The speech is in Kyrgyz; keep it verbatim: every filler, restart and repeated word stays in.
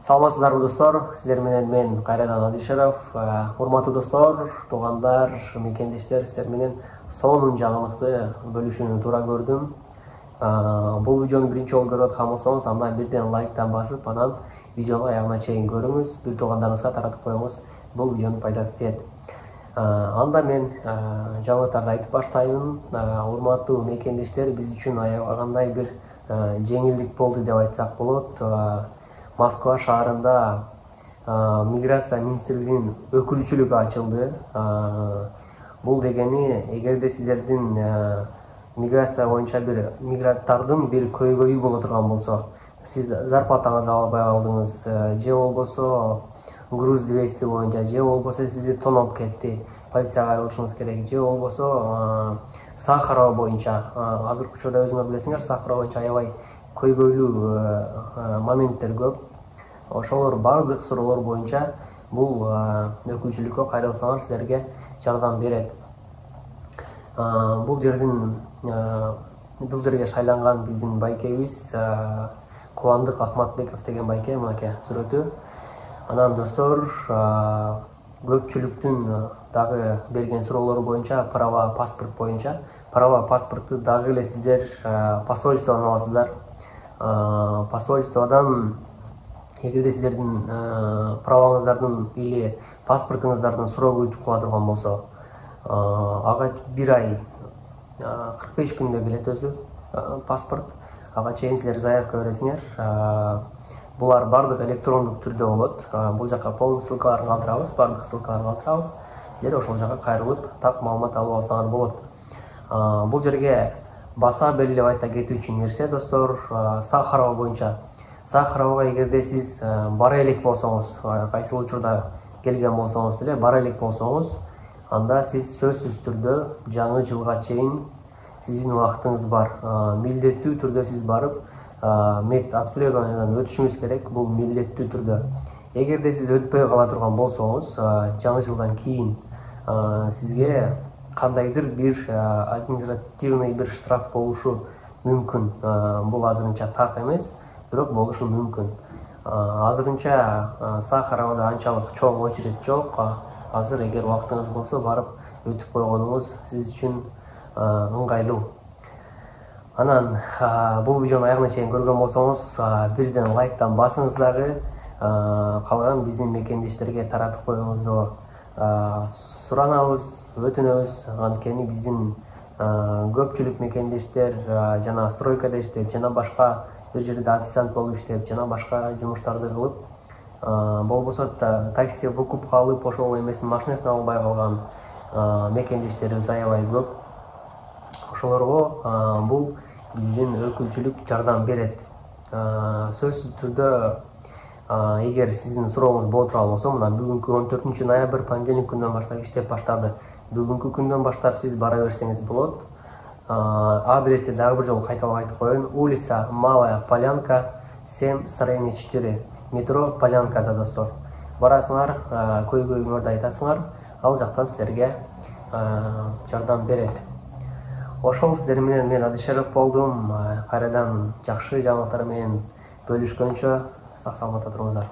Саламатсыздарбы достор, сиздер менен мен кайрадан Адишеров. Урматтуу достор, туугандар, мекендештер, сиздер менен сонун жаңылыкты бөлүшүүнү туура көрдүм. Бул видеону биринчи жолу көрүп аткан болсоңуз, анда бирден лайктан басып, анан видеону аягына чейин көрүңүз, бир туугандарыңызга таратып коюңуз. Бул видеонун пайдасы тиет. Анда мен жаңылыктарды айтып баштайм. Урматтуу мекендештер, биз үчүн аябагандай бир жеңилдик болду деп айтсак болот. Москва шаарында миграция министрлигинин өкүлчүлүгү ачылды. Бул дегени, эгерде сиздердин миграция боюнча бир мигранттардын бир көйгөйү боло турган болсо, сиз зарплатаңызды албай калдыңыз, же болбосо груз двести боюнча, же болбосо сизди тоноп кетти, полицияга кайрылышыңыз керек, же болбосо Сахарова боюнча, азыркы учурда өзүңөр билесиңер, Сахарова боюнча аябай көйгөйлүү моменттер көп. Ошолор бардык суроолор боюнча бул өкүлчүлүккө кайрылсаңар силерге жардам берет. Бул жердин бул жерге шайланган биздин байкебиз Кубандык Акматбеков деген байке, мынакей сүрөтү. Анан достор, көпчүлүктүн дагы берген суроолору боюнча, права паспорт боюнча, права паспортту дагы эле сиздер посольстводон аласыздар. Посольстводон эгерде сиздердин праваңыздардын или паспортуңуздардын сроку өтүп кала турган болсо, ага бир ай кырк беш күндө келет өзү паспорт. Ага чейин силер заявка бересиңер. Булар бардык электрондук түрдө болот. Бул жака полный ссылкаларын калтырабыз, бардык ссылкаларын калтырабыз. Силер ошол жака кайрылып, так маалымат алып алсаңар болот. Бул жерге баса белгилеп айта кетүүчү нерсе, достор, Сахарова боюнча. Сахаровага эгерде сиз бара элек болсоңуз, кайсыл учурда келген болсоңуз деле, бара элек болсоңуз, анда сиз сөзсүз түрдө жаңы жылга чейин сиздин убактыңыз бар. Милдеттүү түрдө сиз барып, мед обследованиядан өтүшүңүз керек, бул милдеттүү түрдө. Эгерде сиз өтпөй кала турган болсоңуз, жаңы жылдан кийин сизге кандайдыр бир административный бир штраф болушу мүмкүн. Бул азырынча так эмес, бирок болушу мүмкүн. Азырынча Сахаровада анчалык чоң очередь жок. Азыр эгер убактыңыз болсо, барып өтүп койгонуңуз сиз үчүн ыңгайлуу. Анан бул видеону аягына чейин көргөн болсоңуз, бирден лайктан басыңыз дагы. Калган биздин мекендештерге таратып коюңузду суранабыз, өтүнөбүз. Анткени биздин көпчүлүк мекендештер жана стройкада иштеп, жана башка бир жерде официант болуп иштеп, жана башка жумуштарды кылып, болбосо такси выкупка алып, ошол эмесин машинасына албай калган мекендештерибиз аябай көп. Ошолорго бул биздин өкүлчүлүк жардам берет. Сөзсүз түрдө, эгер сиздин сурооңуз боло турган болсо, мына бүгүнкү он төртүнчү ноябрь понедельник күндөн баштап иштеп баштады. Бүгүнкү күндөн баштап сиз бара берсеңиз болот. Адреси дагы бир жолу кайталап айтып коеюн. Улица Малая Полянка, семь, строение четыре. Метро Полянкада, достор. Барасыңар, көйгөйүңөрдү айтасыңар, ал жактан силерге жардам берет. Ошол сиздер менен мен Адишеров болдум. Кайрадан жакшы жаңылыктар менен бөлүшкөнчө сак саламатта туруңуздар.